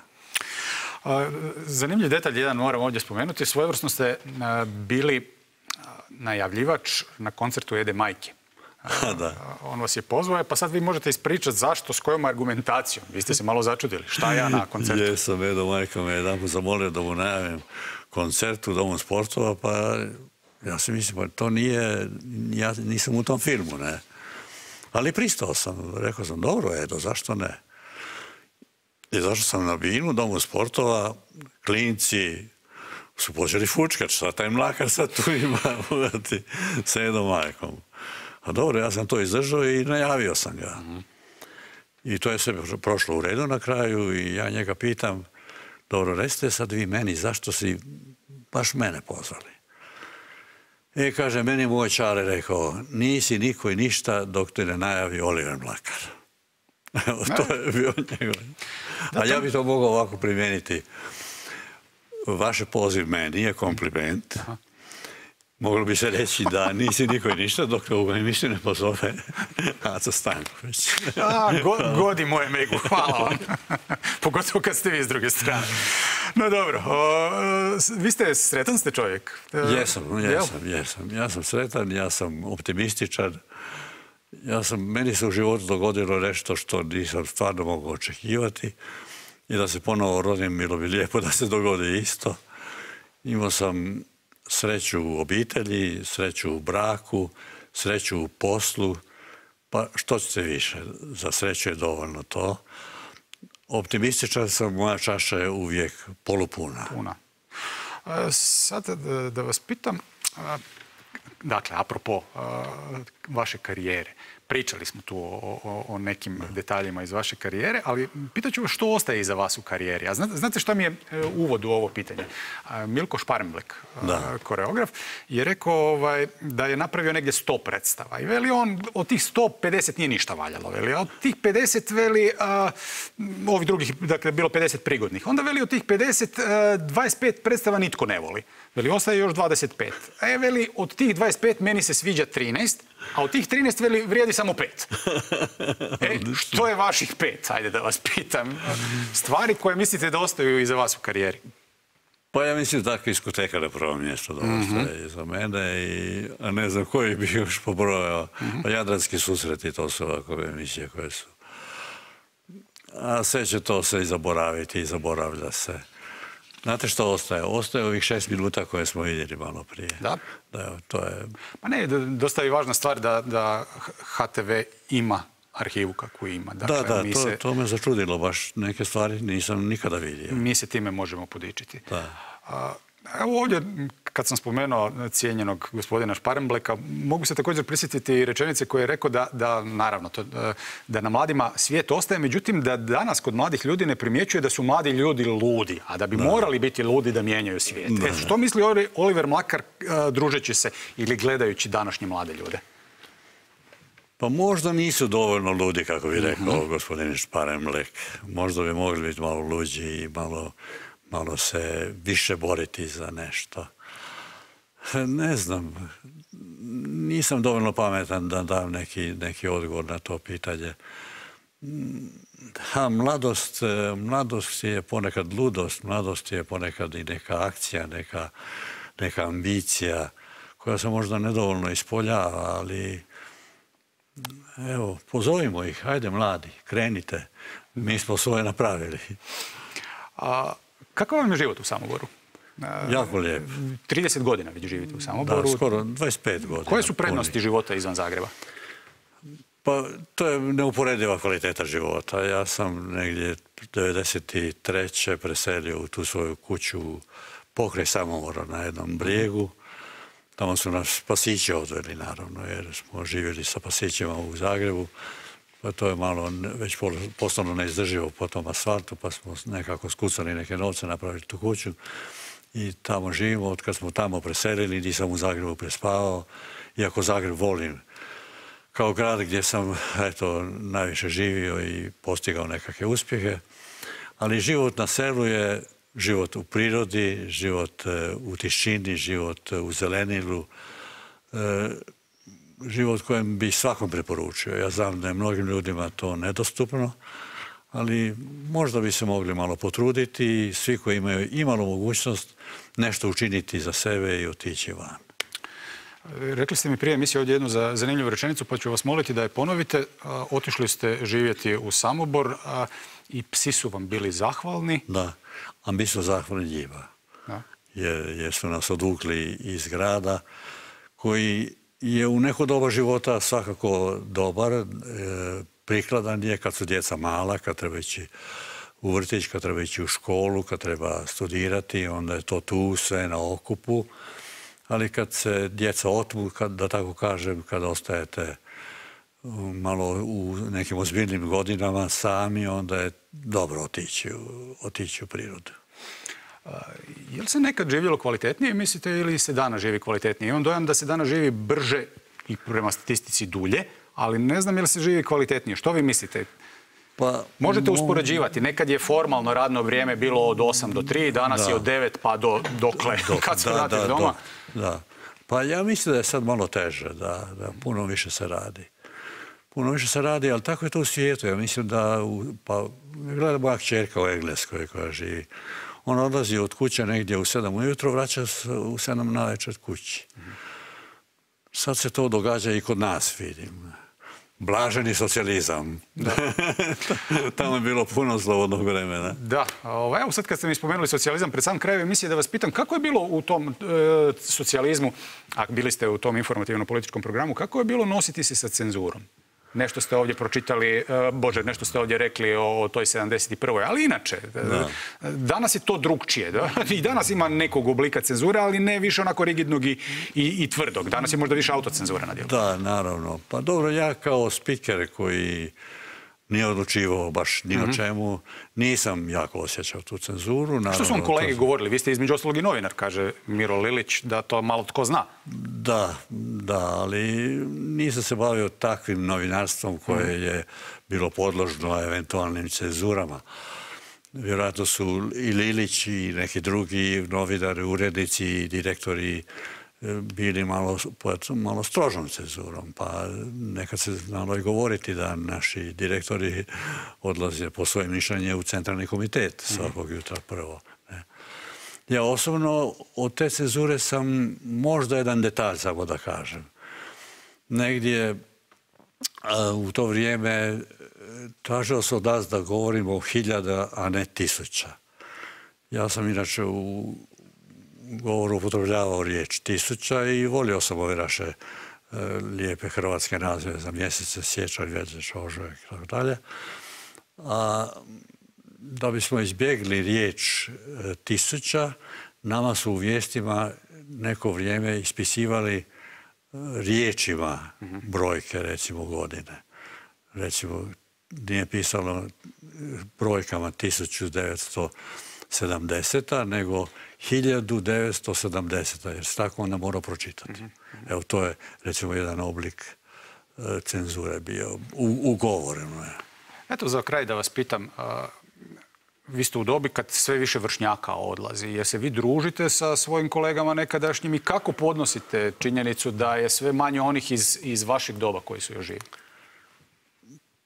Zanimljiv detalj jedan moram ovdje spomenuti. Svojevrsno ste bili najavljivač na koncertu Ede Majke. On vas je pozvao, pa sad vi možete ispričati zašto, s kojom argumentacijom. Vi ste se malo začudili. Šta ja na koncertu? Jesam, Edo Majka me jedanput zamolio da mu najavim koncert u Domu sportova, pa ja si mislim, pa to nije, ja nisam u tom filmu, ne. Ali pristao sam, rekao sam, dobro Edo, zašto ne? I zašto sam na binu, Domu sportova, klinci su počeli fučkat, šta taj Mlakar sad tu ima sa Edom Majkom. A dobro, ja sam to izdržao i najavio sam ga. I to je sve prošlo u redu na kraju i ja njega pitam, dobro, recite sad vi meni, zašto si baš mene pozvali? I kaže, meni moj čale rekao, nisi niko i ništa dok te ne najavi Oliver Mlakar. To je bio njegov. A ja bih to mogao ovako primijeniti. Vaš poziv meni je kompliment. Moglo bi se reći da nisi niko i ništa dok te u emisiju ne pozove Aco Stanković. Godi moje Megu, hvala vam. Pogotovo kad ste vi s druge strane. No dobro, vi ste sretan ste čovjek? Jesam. Ja sam sretan, ja sam optimističan. Meni se u životu dogodilo nešto što nisam stvarno mogao očekivati i da se ponovo rodim, bilo bi lijepo da se dogodi isto. Imao sam sreću u obitelji, sreću u braku, sreću u poslu, pa što ćete više, za sreću je dovoljno to. Optimističan sam, moja čaša je uvijek polupuna. Sad da vas pitam, dakle, apropo vaše karijere, pričali smo tu o nekim detaljima iz vaše karijere, ali pitat ću vas što ostaje iza vas u karijeri. A znate šta mi je uvod u ovo pitanje? Milko Šparemblek, koreograf, je rekao da je napravio negdje 100 predstava. I veli on, od tih 150 nije ništa valjalo. Veli, a od tih 50, veli, ovih drugih, dakle, bilo 50 prigodnih. Onda veli, od tih 50, 25 predstava nitko ne voli. Veli, ostaje još 25. Veli, od tih 25 meni se sviđa 13, a od tih 13 veli, vrijedi samo 5. Što je vaših 5? Ajde da vas pitam. Stvari koje mislite da ostaju iza vas u karijeri. Pa ja mislim da diskoteka na prvom mjestu da ostaje iza mene, a ne znam koji bi još pobrojao. Pa Jadranski susreti, to su ovakve emisije koje su. A sve će to se i zaboraviti i zaboravlja se. Znate što ostaje? Ostaje ovih 6 minuta koje smo vidjeli malo prije. Da? To je... Pa ne, dosta je važna stvar da HTV ima arhivu kakvu ima. Da, to me začudilo. Baš neke stvari nisam nikada vidio. Mi se time možemo podičiti. Evo ovdje, kad sam spomenuo cijenjenog gospodina Šparembleka, mogu se također prisjetiti rečenice koje je rekao da na mladima svijet ostaje, međutim da danas kod mladih ljudi ne primjećuje da su mladi ljudi ludi, a da bi morali biti ludi da mijenjaju svijet. Što misli Oliver Mlakar družeći se ili gledajući današnje mlade ljude? Pa možda nisu dovoljno ludi, kako bi rekao gospodin Šparemblek. Možda bi mogli biti malo luđi i malo se više boriti za nešto. Ne znam, nisam dovoljno pametan da dam neki odgovor na to pitanje. Mladost je ponekad ludost, mladost je ponekad i neka akcija, neka ambicija koja se možda nedovoljno ispoljava, ali evo, pozovimo ih, hajde mladi, krenite, mi smo svoje napravili. Kakav vam je život u Samoboru? Jako lijep. 30 godina već živite u Samoboru. Da, skoro 25 godina. Koje su prednosti života izvan Zagreba? Pa to je neuporediva kvaliteta života. Ja sam negdje 1993. preselio u tu svoju kuću pokraj Samobora na jednom brijegu. Tamo su nas pasići odveli, naravno, jer smo živjeli sa pasićima u Zagrebu. Pa to je malo već postalo neizdrživo po tom asfaltu, pa smo nekako skucali neke novce, napravili tu kuću. I tamo živimo. Od kad smo tamo preselili, nisam u Zagrebu prespavao. Iako Zagreb volim kao grad gdje sam najviše živio i postigao nekakve uspjehe. Ali život na selu je život u prirodi, život u tišini, život u zelenilu, život kojem bi svakom preporučio. Ja znam da je mnogim ljudima to nedostupno, ali možda bi se mogli malo potruditi i svi koji imaju imalo mogućnost nešto učiniti za sebe i otići van. Rekli ste mi prije emisije ovdje jednu zanimljivu rečenicu, pa ću vas moliti da je ponovite. Otišli ste živjeti u Samobor i psi su vam bili zahvalni. Da, a mi smo zahvalni njima. Jer su nas odvukli iz grada koji je u neko doba života svakako dobar, prikladan je kad su djeca mala, kad treba ići u vrtić, kad treba ići u školu, kad treba studirati, onda je to tu sve na okupu. Ali kad se djeca otmu, da tako kažem, kad ostajete malo u nekim ozbiljnim godinama sami, onda je dobro otići u prirodu. Je li se nekad živjelo kvalitetnije, mislite, ili se danas živi kvalitetnije? Imam dojam da se danas živi brže i prema statistici dulje, ali ne znam je li se živi kvalitetnije. Što vi mislite? Možete uspoređivati. Nekad je formalno radno vrijeme bilo od 8 do 3, danas je od 9 pa do dokle, kad se vratiš doma. Da. Pa ja mislim da je sad malo teže, da puno više se radi. Puno više se radi, ali tako je to u svijetu. Ja mislim da, pa gleda moja kćerka u Engleskoj koja živi. Ona odlazi od kuće negdje u 7 ujutro, vraća se u 7 navečer kući. Sad se to događa i kod nas, vidim. Blaženi socijalizam. Tamo je bilo puno slobodnog vremena. Da. Evo sad kad ste mi spomenuli socijalizam pred sam kraj emisije, da vas pitam kako je bilo u tom socijalizmu, a bili ste u tom informativno-političkom programu, kako je bilo nositi se sa cenzurom? Nešto ste ovdje pročitali, nešto ste ovdje rekli o toj 71. Ali inače, danas je to drugčije. I danas ima nekog oblika cenzure, ali ne više onako rigidnog i tvrdog. Danas je možda više autocenzura na djelu. Da, naravno. Pa dobro, ja kao spiker koji nije odlučivao baš ni o čemu, nisam jako osjećao tu cenzuru. Što su vam kolege govorili? Vi ste između ostalog i novinar, kaže Miro Lilić, da to malo tko zna. Da, ali nisam se bavio takvim novinarstvom koje je bilo podložno eventualnim cenzurama. Vjerojatno su i Lilić i neki drugi novinari, urednici i direktori bili malo strožom cenzurom, pa nekad se znalo i govoriti da naši direktori odlaze po svoje mišljenje u centralni komitet svakog jutra prvo. Ja osobno od te cenzure sam možda jedan detalj, samo da kažem. Negdje u to vrijeme tražio se od nas da govorimo o 1000, a ne 1000. Ja sam inače u govoru upotrebljavao riječ 1000 i volio sam ove naše lijepe hrvatske nazive za mjesece, siječanj, veljača, ožujak i tako dalje. A da bismo izbjegli riječ 1000, nama su u vijestima neko vrijeme ispisivali riječima brojke, recimo godine. Recimo, nije pisalo brojkama 1970, nego 1970, jer se tako onda mora pročitati. Evo, to je, recimo, jedan oblik cenzure bio, ugovoreno je. Eto, za kraj da vas pitam, vi ste u dobi kad sve više vršnjaka odlazi. Jer se vi družite sa svojim kolegama nekadašnjim i kako podnosite činjenicu da je sve manje onih iz vašeg doba koji su još živi?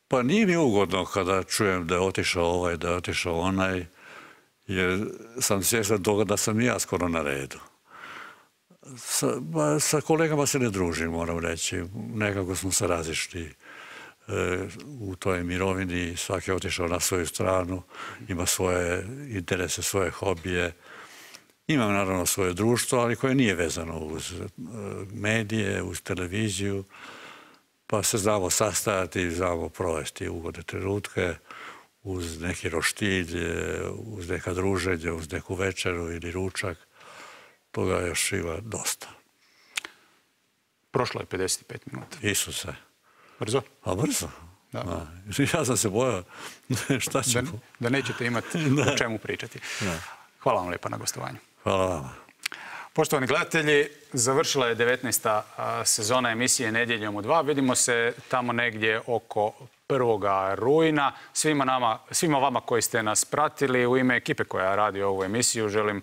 Pa nije mi ugodno kada čujem da je otišao ovaj, da je otišao onaj, jer sam svjestan toga da sam i ja skoro na redu. Sa kolegama se ne družim, moram reći. Nekako smo se razišli u toj mirovini. Svaki je otišao na svoju stranu, ima svoje interese, svoje hobije. Imam naravno svoje društvo, ali koje nije vezano uz medije, uz televiziju. Pa se znamo sastajati, znamo provesti ugodne trenutke uz neki roštilj, uz neka druženja, uz neku večeru ili ručak. Toga još ima dosta. Prošlo je 55 minuta. Isuse. Brzo? A brzo. Da. Ja sam se bojao šta ćemo. Da nećete imati o čemu pričati. Hvala vam lijepa na gostovanju. Hvala vama. Poštovani gledatelji, završila je 19. sezona emisije Nedjeljom u 2. Vidimo se tamo negdje oko 1. rujna. Svima vama koji ste nas pratili, u ime ekipe koja radi ovu emisiju, želim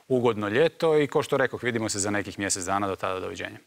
ugodno ljeto i, kao što rekoh, vidimo se za nekih mjesec dana. Do tada, doviđenja.